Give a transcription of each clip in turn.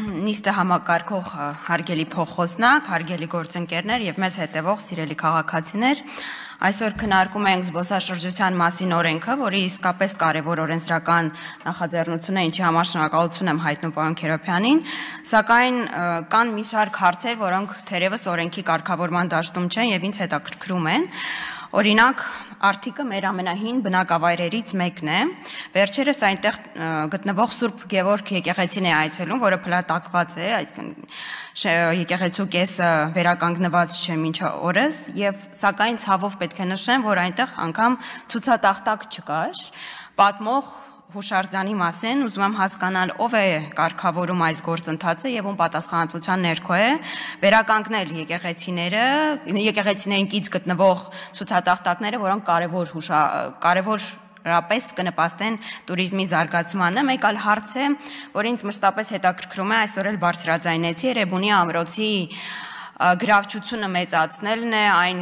նիստը համակարգող հարգելի փոխոսնակ, հարգելի գործընկերներ եւ մեզ հետևող սիրելի քաղաքացիներ, այսօր քննարկում ենք զբոսաշրջության մասին օրենքը, որի իսկապես կարևոր օրենսդրական նախաձեռնություն է, ինչի համար շնորհակալություն եմ հայտնում պարոն Քերոբյանին, սակայն կան մի շարք հարցեր, որոնք թերևս օրենքի կարգավորման դաշտում չեն եւ ինձ հետաքրքրում են։ Օրինակ, արդիկը մեր ամենահին բնակավայրերից մեկն է, վերջերս այնտեղ գտնվող Սուրբ Գևորգ եկեղեցին է այցելում, որը փլատակված է, այսինքն եկեղեցու կեսը վերականգնված չէ մինչ օրս, եւ սակայն ցավով պետք է նշեմ, որ այնտեղ անգամ ցուցատախտակ չկար, պատմող հուշարձանի մասին, ուզում եմ հասկանալ ով է կարգավորում այս գործընթացը եւ ում պատասխանատվության ներքո է վերականգնել եկեղեցիներին կից գտնվող ցուցատախտակները, որոնք կարևորապես կնպաստեն туриզմի զարգացմանը։ Մեկ այլ հարց է, որ ինձ մշտապես հետաքրքրում է, այսօր էլ բարձրաձայնեցի, Երևանի ամրոցի գրավչությունը մեծացնելն է, այն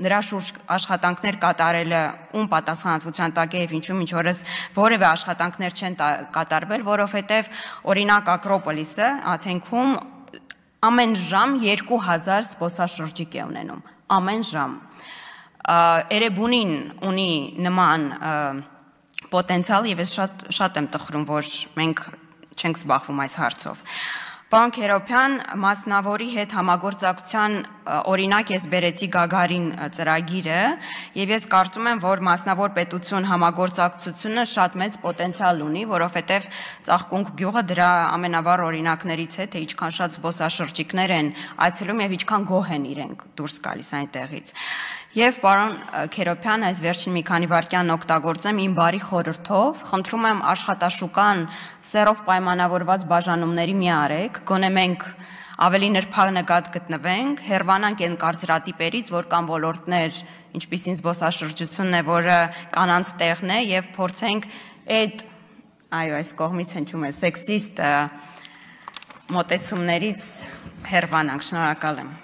նրա շուրջ աշխատանքներ կատարելը ում պատասխանատվության տակ է եւ ինչու մինչ օրս որևէ աշխատանքներ չեն կատարվել, որովհետեւ օրինակ Ակրոպոլիսը Աթենքում ամեն ժամ 2000 զբոսաշրջիկ է ունենում, ամեն ժամ։ Էրեբունին ունի նման պոտենցիալ եւ ես շատ եմ տխրում, որ մենք չենք զբաղվում այս հարցով։ Պարոն Քերոբյան, մասնավորի հետ համագործակցության օրինակ ես բերեցի Գագարին ծրագիրը եւ ես կարծում եմ, որ մասնավոր պետություն համագործակցությունը շատ մեծ պոտենցիալ ունի, որովհետեւ Ծաղկունք գյուղը դրա ամենավառ օրինակներից է, թե ինչքան շատ զբոսաշրջիկներ են այցելում եւ ինչքան գոհ են իրենք դուրս գալիս այնտեղից։ Եվ պարոն Քերոբյան, այս վերջին մի քանի վայրկյան օգտագործեմ իմ բարի խորհրդով, խնդրում եմ աշխատաշուկան սերով պայմանավորված բաժանումների մի արեք, գոնե մենք ավելի նրբանկատ գտնվենք, հեռվանանք այն կարծրատիպերից, որ կան ոլորտներ, ինչպիսին զբոսաշրջությունն է, որը կանանց տեղն է եւ փորձենք այդ, այո, այս կողմից հնչում է սեքսիստ մոտեցումներից հեռվանանք, շնորհակալ եմ։